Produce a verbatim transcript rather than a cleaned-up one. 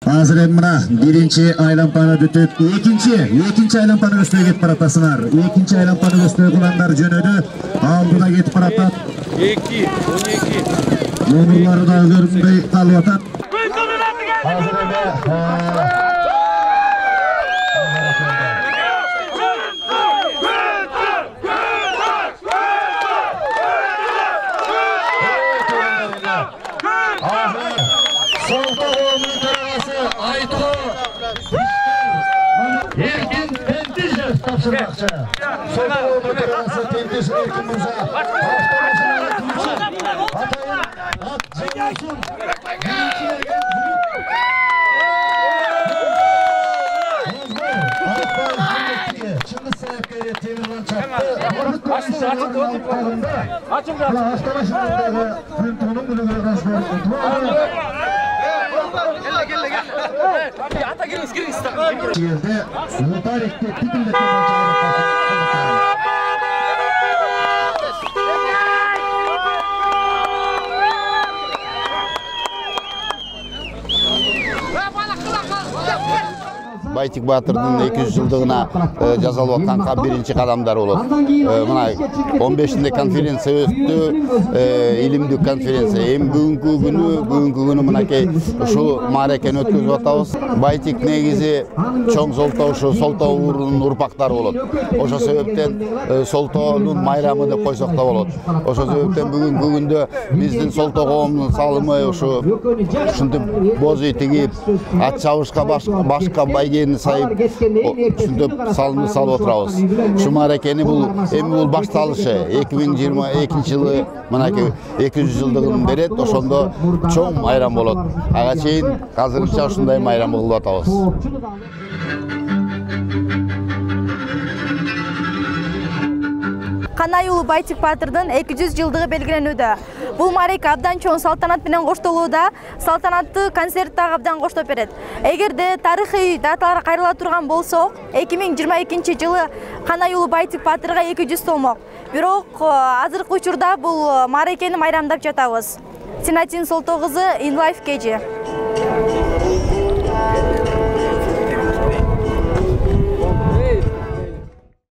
Азыр эми мына биринчи айлампаны бүтүп, экинчи, экинчи айлампаны көздөй кетип баратасыңар. Экинчи айлампаны көздөй куландар жөнөдү. Алдыда кетип баратат. эки, он эки. Номерлары да көрүнбөй калып атат. Азыр эми Erkin Tentişev tapşırmakçı. Solda oturması Tentiş Erkin Musa. Başkalaşına yatırıcı. Atayın at canlısın. Birinci yergen büyük. Hızlı. Akbay Hürmetli'ye. Çıngız Sayakay'a Temirhan çaktı. Açın açın. Açın açın. Başkalaşındağı Hünton'un bölümüne karşı Yerde Mutarik'te tipinde Байтик Батырдын эки жүз жылдыгына жасалып аткан биринчи кадамдар болот. Мына он бешинде конференция өттү, илимдик конференция. Эми бүгүнкү күнү, бүгүнкү күнү мынакей ушул мааракени өткөзүп атабыз. Байтик негизи чоң Солтоо ушу Солтоо уурунун урпактары болот. Ошол себептен Солтоонун майрамы деп койсок да болот. Ошол себептен бүгүнкү күндө биздин Солтоо коомунун салымы ушу ушинтип боз үй тигип, ат чабышка башка байге сайып ушинтип салымды салып отурабыз. Ушу мааракени бул эми бул башталышы. эки миң жыйырма экинчи жылы мынакей эки жүз жылдыгын берет, ошондо чоң майрам болот. Ага чейин азырынча ушундай майрам кылып атабыз. Канай уулу Байтик Батырдын эки жүз жылдыгы белгиленүүдө. Бул маарека абдан чоң салтанат менен коштолууда. Салтанаттуу концерт дагы абдан коштоп берет. Эгерде тарыхый даталар кайрыла турган болсок, эки миң жыйырма экинчи жылы Канай уулу Байтик Батырга эки жүз толмок. Бирок азыркы учурда бул мааракени майрамдап жатабыз. Синатин Солтоо кызы, InLife кежи.